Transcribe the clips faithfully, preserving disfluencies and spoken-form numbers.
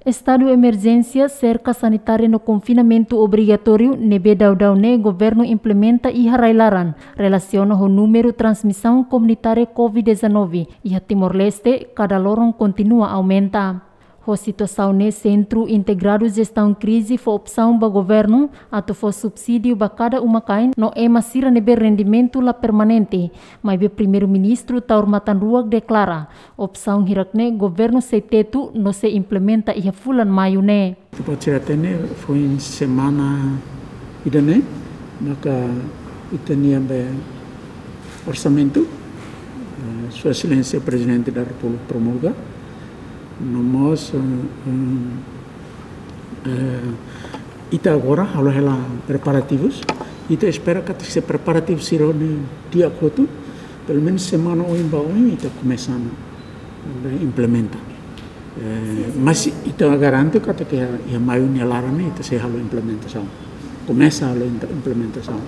Estadu emerjénsia, serka sanitária no konfinamentu obrigatóriu ne'ebé daudaun ne'e governu implementa iha rai-laran, relasiona ho númeru transmisaun komunitária COVID dezanove iha Timor-Leste kada loron kontinua aumenta. Ho situasaun ne'e, Sentru Integradu Jestaun Krize fó opsaun ba governu atu fó subsídiu ba kada uma-kain no ema sira ne'ebé rendimentu la permanente, maibé Primeiru-Ministru Taur Matan Ruak deklara, opsaun hirak-ne'e governu sei tetu no sei implementa iha fulan Maiu ne'e. Ita-boot sira hatene, foin semana ida-ne'e maka ita-nia be orsamentu, eh, Sua Exelénsia Prezidente da Repúblika promulga. No mós, eh, eh, eh, ita agora halo hela preparativus. Ita espera katak se preparativus sira-ne'e di'ak hotu, pelumenus semana oin ba oin ita komesa ona be implementa. Eh, mas ita garante katak iha, iha Maiu nia laran ne'e ita sei halo implementasaun. Komesa halo inter-, implementasaun.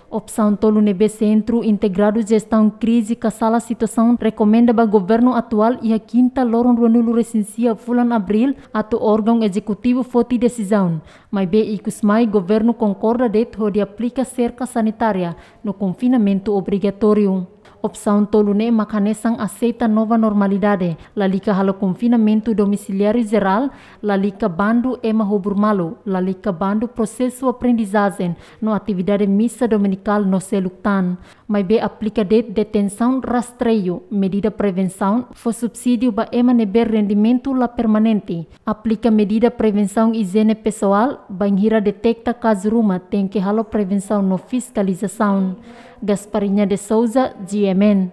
Opsaun tolu ne'ebé Sentru Integradu Jestaun Krize Kasala Situasaun rekomenda ba governu atuál iha kinta loron ruanulu-resin-sia fulan Abríl atu órgaun ezekutivu foti desizaun. Maibé ikus mai governu konkorda de'it hodi aplika serka sanitária no konfinamentu obrigatóriu. Opsaun tolu ne'e mak hanesan aseita nova normalidade, lalika halo konfinamentu domisiliáriu jerál, lalika bandu ema hobur malu, lalika bandu prosesu aprendizajen no atividade misa dominikál no seluk tan. Maibé aplika de'it detensaun rastreiu, medida prevensaun, fó subsídiu ba ema ne'ebé rendimentu la permanente, aplika medida prevensaun ijiene pesoál, bainhira deteta kazu ruma tenke halo prevensaun no fiskalizasaun. Gasparinha de Souza, G M N.